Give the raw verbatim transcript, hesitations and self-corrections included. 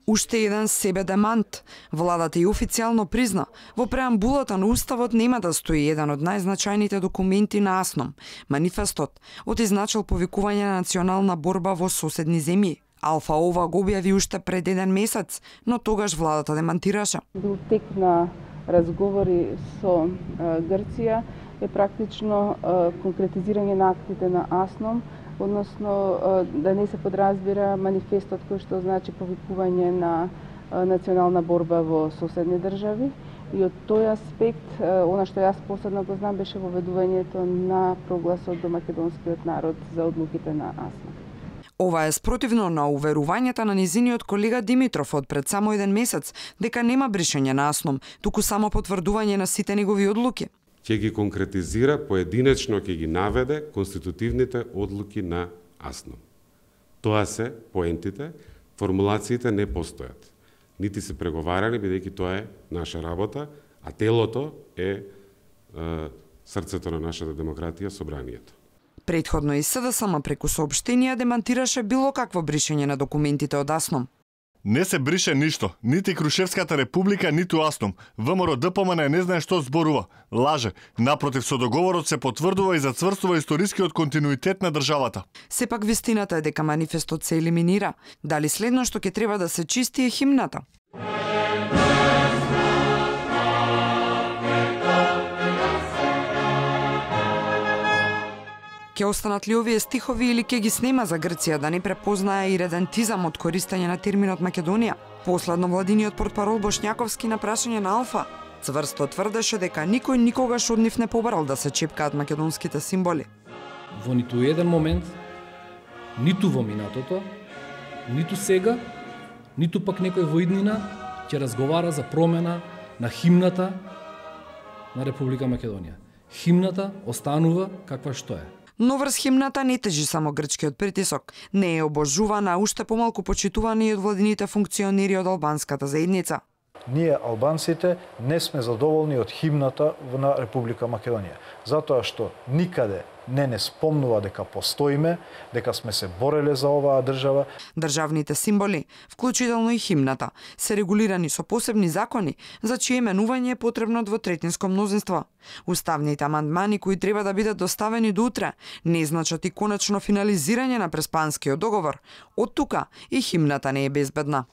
Уште еден себе демант. Владата и официјално призна, во преамбулата на Уставот нема да стои еден од најзначајните документи на АСНОМ, манифестот, од изначал повикување на национална борба во соседни земји. Алфа ова го објави уште пред еден месец, но тогаш владата демантираше. Бил тек на разговори со Грција е практично конкретизирање на актите на АСНОМ, односно да не се подразбира манифестот кој што значи повикување на национална борба во соседни држави. И од тој аспект, она што јас посебно го знам беше воведувањето на прогласот до македонскиот народ за одлуките на АСНОМ. Ова е спротивно на уверувањата на низиниот колега Димитров од пред само еден месец дека нема бришење на АСНОМ, туку само потврдување на сите негови одлуки. Ќе ги конкретизира поединечно, ќе ги наведе конститутивните одлуки на АСНОМ. Тоа се поентите, формулациите не постојат. Нити се преговарани, бидејќи тоа е наша работа, а телото е, е срцето на нашата демократија, собранието. Претходно и СДСМ преку соопштенија демантираше било какво бришење на документите од АСНОМ. Не се брише ништо, нити Крушевската република, ниту АСНОМ. ВМРО ДПМН не знае што зборува, лаже. Напротив, со договорот се потврдува и зацврстува историскиот континуитет на државата. Сепак вистината е дека манифестот се елиминира. Дали следно што ќе треба да се чисти е химната? Ќе останат ли овие стихови или ќе ги снема за Грција да не препознае и редентизам од користење на терминот Македонија? Последно владиниот портпарол Бошњаковски на прашање на Алфа цврсто тврдеше дека никој никогаш од нив не побарал да се чепкаат македонските символи. Во ниту еден момент, ниту во минатото, ниту сега, ниту пак некој во иднина ќе разговара за промена на химната на Република Македонија. Химната останува каква што е. Но врз химната не тежи само грчкиот притисок. Не е обожувана, а уште помалку почитувана и од владините функционери од албанската заедница. Ние, албанците, не сме задоволни од химната на Република Македонија, затоа што никаде не не спомнува дека постоиме, дека сме се бореле за оваа држава. Државните символи, вклучително и химната, се регулирани со посебни закони, за чие менување е потребно двотретинско мнозинство. Уставните амандмани кои треба да бидат доставени до утре не значат и конечно финализирање на Преспанскиот договор. Од тука и химната не е безбедна.